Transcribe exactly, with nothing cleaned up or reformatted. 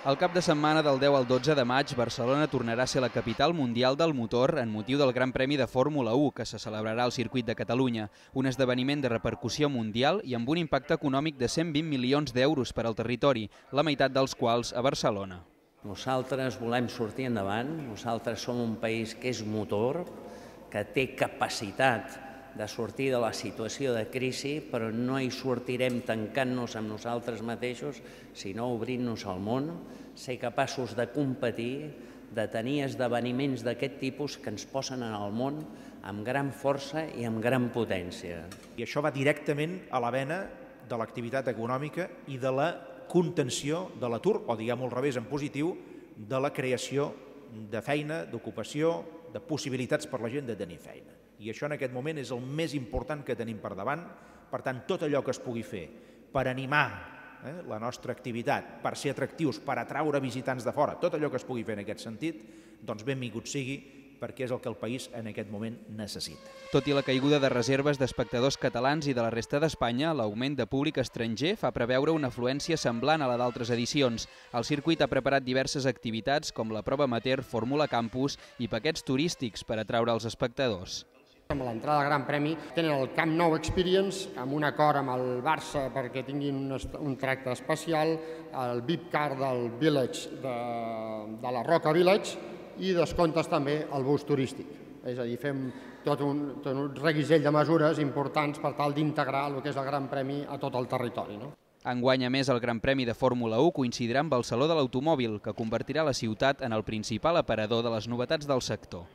El cap de setmana del deu al dotze de maig, Barcelona tornarà a ser la capital mundial del motor en motiu del Gran Premi de Fórmula u, que se celebrarà al circuit de Catalunya, un esdeveniment de repercussió mundial i amb un impacte econòmic de cent vint milions d'euros per al territori, la meitat dels quals a Barcelona. Nosaltres volem sortir endavant, nosaltres som un país que és motor, que té capacitat de sortir de la situació de crisi, però no hi sortirem tancant-nos amb nosaltres mateixos, sinó obrint-nos al món, ser capaços de competir, de tenir esdeveniments d'aquest tipus que ens posen en el món amb gran força i amb gran potència. I això va directament a la vena de l'activitat econòmica i de la contenció de l'atur, o diguem-ho al revés, en positiu, de la creació de feina, d'ocupació, de possibilitats per la gent de tenir feina. I això en aquest moment és el més important que tenim per davant. Per tant, tot allò que es pugui fer per animar eh, la nostra activitat, per ser atractius, per atraure visitants de fora, tot allò que es pugui fer en aquest sentit, doncs benvingut sigui, perquè és el que el país en aquest moment necessita. Tot i la caiguda de reserves d'espectadors catalans i de la resta d'Espanya, l'augment de públic estranger fa preveure una afluència semblant a la d'altres edicions. El circuit ha preparat diverses activitats com la prova amateur Fórmula Campus i paquets turístics per atraure els espectadors. Amb l'entrada al Gran Premi tenen el Camp Nou Experience, amb un acord amb el Barça perquè tinguin un, un tracte especial, el V I P Car del Village, de, de la Roca Village, i descomptes també el bus turístic. És a dir, fem tot un, tot un reguitzell de mesures importants per tal d'integrar el que és el Gran Premi a tot el territori. No? Enguany, a més, el Gran Premi de Fórmula u coincidirà amb el Saló de l'Automòbil, que convertirà la ciutat en el principal aparador de les novetats del sector.